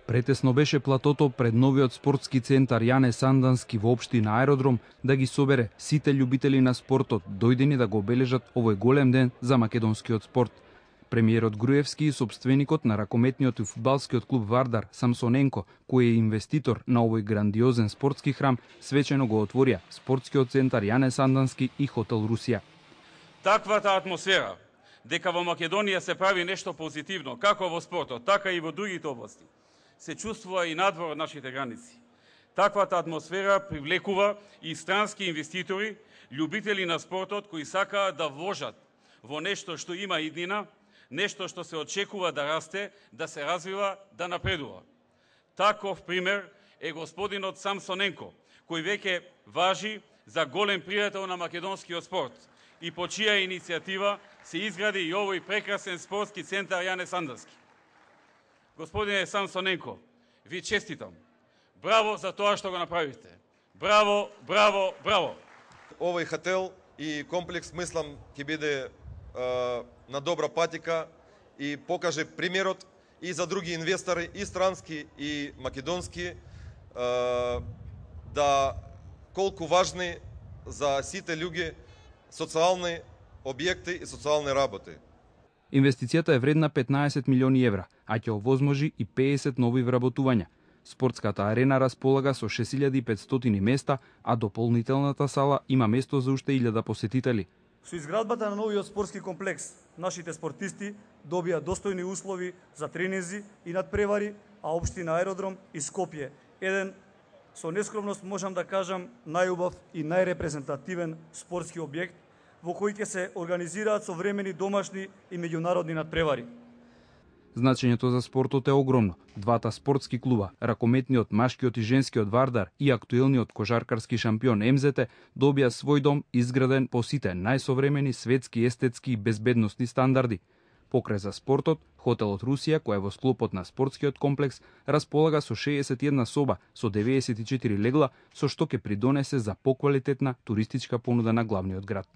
Претесно беше платото пред новиот спортски центар Јане Сандански во општина Аеродром да ги собере сите љубители на спортот, дојдени да го обележат овој голем ден за македонскиот спорт. Премиерот Груевски и собственикот на ракометниот и фудбалскиот клуб Вардар Самсоненко, кој е инвеститор на овој грандиозен спортски храм, свечено го отворија спортскиот центар Јане Сандански и хотел Русија. Таквата атмосфера, дека во Македонија се прави нешто позитивно, како во спортот, така и во другите области, се чувствува и надвор од нашите граници. Таквата атмосфера привлекува и странски инвеститори, љубители на спортот кои сакаат да вложат во нешто што има иднина, нешто што се очекува да расте, да се развива, да напредува. Таков пример е господинот Самсоненко, кој веќе важи за голем пријател на македонскиот спорт и по чија иницијатива се изгради и овој прекрасен спортски центар Јане Сандански. Господине Самсоненко, ви честитам. Браво за тоа што го направивте. Браво, браво, браво. Овој хотел и комплекс, мислам, ќе биде на добра патика и покаже примерот и за други инвестори, и странски, и македонски, да колку важни за сите луѓе социјални објекти и социјални работи. Инвестицијата е вредна 15 милиони евра, а ќе овозможи и 50 нови вработувања. Спортската арена располага со 6500 места, а дополнителната сала има место за уште 1000 посетители. Со изградбата на новиот спортски комплекс, нашите спортисти добија достојни услови за тренинзи и надпревари, а општина Аеродром и Скопје, еден, со нескромност можам да кажам, најубав и најрепрезентативен спортски објект, во кој ќе се организираат современи домашни и меѓународни надпревари. Значењето за спортот е огромно. Двата спортски клуба, ракометниот, машкиот и женскиот Вардар и актуелниот кошаркарски шампион МЗТ, добија свој дом изграден по сите најсовремени светски, естетски и безбедносни стандарди. Покрај за спортот, хотелот Русија, кој е во склопот на спортскиот комплекс, располага со 61 соба со 94 легла, со што ќе придонесе за поквалитетна туристичка понуда на главниот град.